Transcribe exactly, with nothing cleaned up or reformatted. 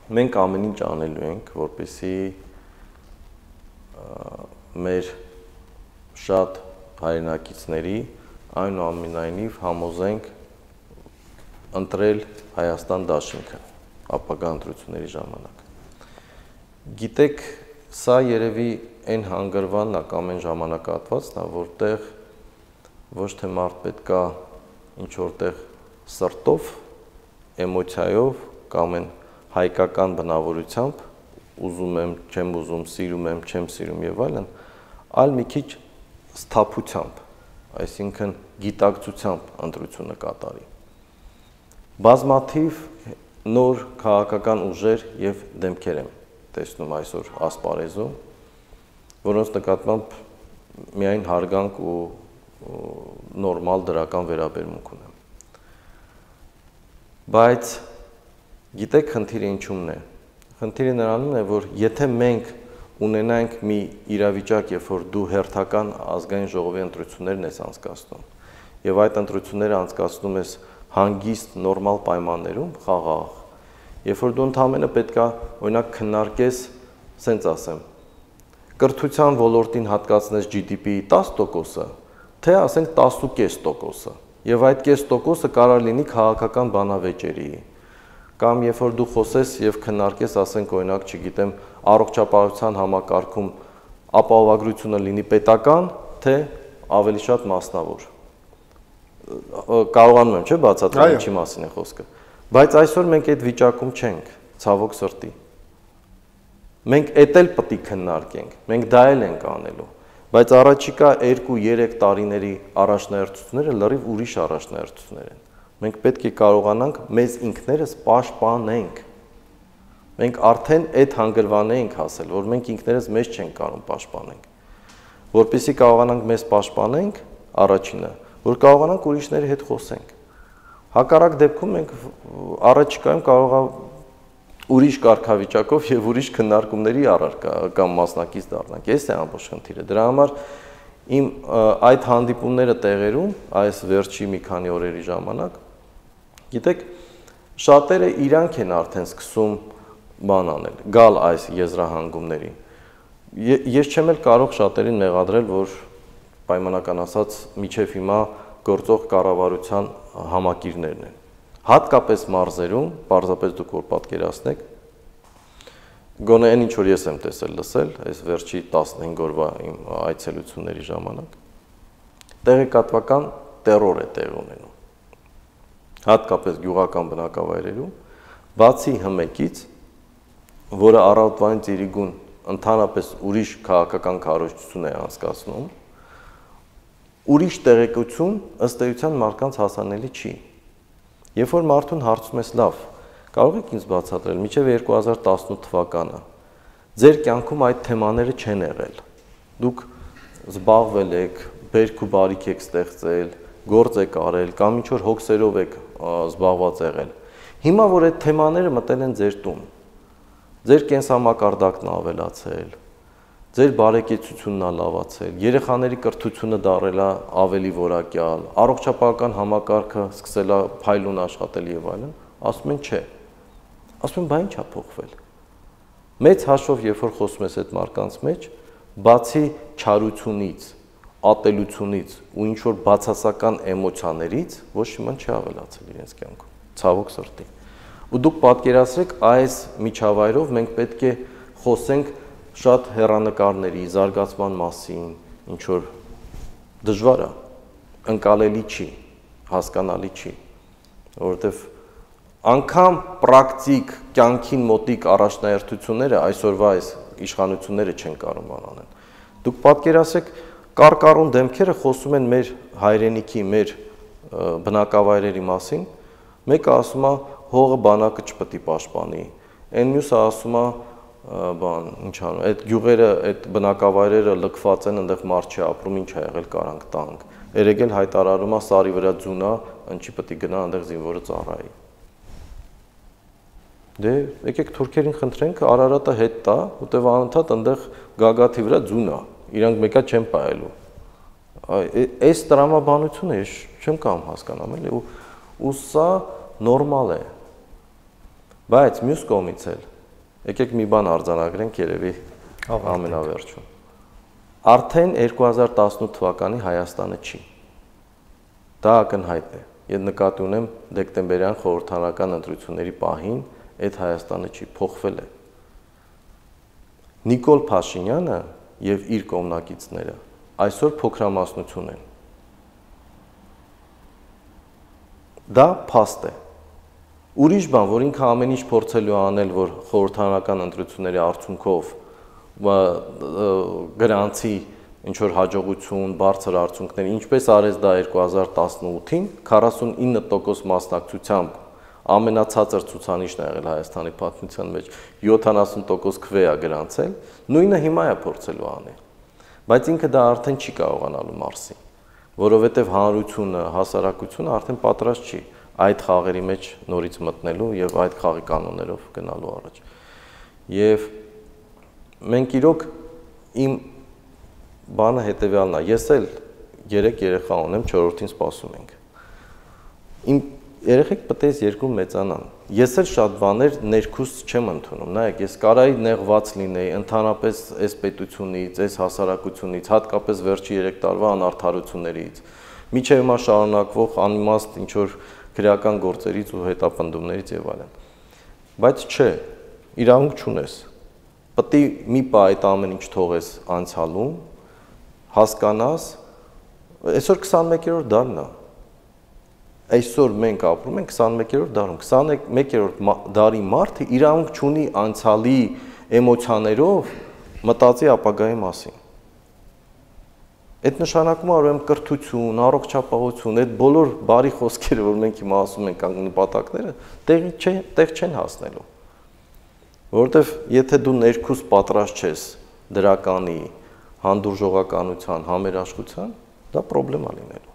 մենք ամեն ինչ անելու ենք, որպեսզի մեր շատ հայրենակիցների այնուամենայնիվ համոզենք ընտրել Հայաստան դաշինքը ապագա ընտրությունների ժամանակ։ Գիտեք, սա երևի այն հանգրվանն է կամ այն ժամանակահատվածն է, որտեղ ոչ թե մարդ պետքա ինչ որտեղ սրտով, էմոցիայով կամ այն հայկական բնավորությամբ ուզում եմ, չեմ ուզում, սիրում եմ, չեմ սիրում եւ այլն, այլ մի քիչ սթափությամբ, այսինքն գիտակցությամբ ընտրությունը կատարի։ Բազմաթիվ նոր քաղաքական ուժեր եւ դեմքեր եմ տեսնում այսօր ասպարեզում, որոնց նկատմամբ միայն հարգանք ու նորմալ դրական վերաբերմունք ունեմ։ Բայց գիտեք խնդիրը ինչումն է։ Խնդիրը նրանում է, որ եթե մենք ունենանք մի իրավիճակ, երբ որ դու հերթական ազգային ժողովի ընտրություններն ես անցկացնում, եւ այդ ընտրությունները անցկացնում ես հանգիստ նորմալ պայմաններում, խաղաղ, երբ որ դու ընդհանրապես պետքա օրինակ քննարկես, սենց ասեմ, կրթության ոլորտին հատկացնես Ջի Դի Պի-ի տասը տոկոսը, թե ասենք տասը կես տոկոսը, եւ այդ կես տոկոսը կարող լինի քաղաքական բանավեճերի, կամ երբ որ դու խոսես եւ քննարկես, ասենք օրինակ, չգիտեմ, առողջապահության համակարգում ապահովագրությունը լինի պետական, թե ավելի շատ մասնավոր։ Կարողանում եմ, չէ՞, բացատրել ինչի մասին է խոսքը։ Բայց այսօր մենք այդ վիճակում չենք, ցավոք սրտի։ Մենք էդ էլ պետք է քննարկենք, մենք դա էլ ենք անելու, բայց առաջիկա երկու-երեք տարիների առաջնահերթությունները լրիվ ուրիշ առաջնահերթություններ են։ Մենք պետք է կարողանանք մեզ ինքներս պաշտպանենք։ Մենք արդեն այդ հանգրվան ենք հասել, որ մենք ինքներս մեզ չենք կարող պաշտպանենք։ Որպեսզի կարողանանք մեզ պաշտպանենք, առաջինը, որ կարողանանք ուրիշների հետ խոսենք։ Հակառակ դեպքում մենք առաջիկայում կարող է ուրիշ կարգավիճակով եւ ուրիշ քննարկումների առարկա կամ մասնակից դառնանք։ Այս է ամբողջ խնդիրը։ Դրա համար իմ այդ հանդիպումները տեղերում, այս վերջի մի քանի օրերի ժամանակ, գիտեք, շատերը իրանք են արդեն սկսում բան անել, գալ այս եզրահանգումներին։ Ես չեմ էլ կարող շատերին մեղադրել, որ պայմանական ասած միջև հիմա գործող կառավարության համակիրներն են։ Հատկապես մարզերում, պարզապես դուք որ պատկերացնեք, գոնե այն ինչ որ ես եմ տեսել լսել, այս վերջի տասնհինգ օրվա իմ այցելությունների ժամանակ, տեղեկատվական տերոր է տեղ ունենում։ Հատկապես գյուղական բնակավայրերում, բացի հմեկից, որը առավոտվանից իրիկուն ընդհանրապես ուրիշ քաղաքական քարոզչություն է անցկացնում, ուրիշ տեղեկություն ըստ էության մարդկանց հասանելի չի։ Երբ որ մարդուն հարցում ես լավ, կարող եք ինձ բացատրել, մինչև երկու հազար տասնութ թվականը ձեր կյանքում այդ թեմաները չեն եղել։ Դուք զբաղվել եք, բերք ու բարիք եք ստեղծել, գործ եք արել կամ ինչ որ հոգսերով եք զբաղված եղել։ Հիմա որ այդ թեմաները մտել են ձեր տուն, ձեր կենսամակարդակն ավելացել, ձեր բարեկեցությունն է լավացել, երեխաների կրթությունը դարել է ավելի որակյալ, առողջապահական համակարգը սկսել է փայլուն աշխատել եւ այլն, ասում են չէ։ Ասում են, բա ի՞նչ է փոխվել։ Մեծ հաշվով, երբ որ խոսում ես այդ մարդկանց մեջ, բացի չարությունից, ատելությունից ու ինչ որ բացասական էմոցիաներից ոչ մի չի ավելացել իրենց կյանքում, ցավոք սրտի։ Ու դուք պատկերացրեք, այս միջավայրով մենք պետք է խոսենք շատ հեռանկարների, զարգացման մասին, ինչ որ դժվար է, ընկալելի չի, հասկանալի չի, որովհետև անգամ պրակտիկ կյանքին մոտիկ առաջնահերթությունները այսօրվա այս իշխանությունները չեն կարող անեն։ Դուք պատկերացրեք, կարկառուն դեմքերը խոսում են մեր հայրենիքի, մեր բնակավայրերի մասին, մեկը ասում է հողը բանակը չպետք է պաշտպանի, այն մյուսը ասում է բան, ինչ անում, այդ գյուղերը, այդ բնակավայրերը լքված են, այնտեղ մարդ չի ապրում, ինչ է եղել, կարանք տանք։ Երեգել հայտարարում է սարի վրա ձուն է, ինչի պետք է գնա այնտեղ զինվորը ծառայի։ Դե եկեք թուրքերին խնդրենք, Արարատը հետ տա, որտեվ անընդհատ այնտեղ գագաթի վրա ձուն է, իրանք մեկա չեն պահելու։ Այս տրամաբանությունը ես չեմ կարող հասկանամ, էլի, ու սա նորմալ է։ Բայց մյուս կողմից էլ Եկեք մի բան արձանագրենք երևի ամենավերջում։ Արդեն երկու հազար տասնութ թվականի Հայաստանը չի։ Դա ակնհայտ է։ Ես նկատի ունեմ դեկտեմբերյան խորհրդարանական ընտրությունների պահին այդ Հայաստանը չի, փոխվել է։ Նիկոլ Փաշինյանը եւ իր կողմնակիցները այսօր փոքրամասնություն են։ Դա փաստ է։ Ուրիշ բան, որ ինքը ամեն ինչ փորձելու անել, որ խորհրդարանական ընտրությունների արդյունքով գրանցի ինչ որ հաջողություն, բարձր արդյունքներ, ինչպես արեց դա երկու հազար տասնութին, քառասունինը տոկոս մասնակցությամբ ամենացածր ցուցանիշն ա եղել Հայաստանի պատմության մեջ, յոթանասուն տոկոս քվե ա գրանցել, նույնը հիմա է փորձելու անել։ Բայց ինքը դա արդեն չի կարողանալու մարսի, որովհետև հանրությունը, հասարակությունը արդեն պատրաստ չի այդ խաղերի մեջ նորից մտնելու եւ այդ խաղի կանոններով գնալու առաջ։ Եվ մենք իրոք իմ բանը հետեւյալն է, ես էլ երեք երեխա ունեմ, չորրորդին սպասում ենք։ Իմ երեխեք պետք է երկու մեծանան։ Ես էլ շատ բաներ ներքուս չեմ ընդունում։ Նայեք, ես կարայի նեղված լինեի ընդհանրապես այս պետությունից, այս հասարակությունից, հատկապես վերջի երեք տարվա անարդարություններից, միջև հիմա շարունակվող անիմաստ ինչ որ քրեական գործերից ու հետապնդումներից եւ այլն։ Բայց չէ, իրավունք չունես։ Պետք է մի պահ այդ ամեն ինչ թողես անցյալում, հասկանաս, այսօր քսանմեկերորդ դարն է։ Այսօր մենք ապրում ենք քսանմեկերորդ դարում, քսանմեկերորդ դարի մարդը իրավունք չունի անցյալի էմոցիաներով մտածի ապագայի մասին։ Այդ նշանակում է ուրեմն կրթություն, առողջապահություն, այդ բոլոր բարի խոսքերը, որ մենք հիմա ասում ենք նպատակները, տեղի չեն, տեղ չեն հասնելու։ Որովհետև եթե դու ներքուս պատրաստ չես դրականի, հանդուրժողականության, համերաշխության, դա պրոբլեմ է լինելու։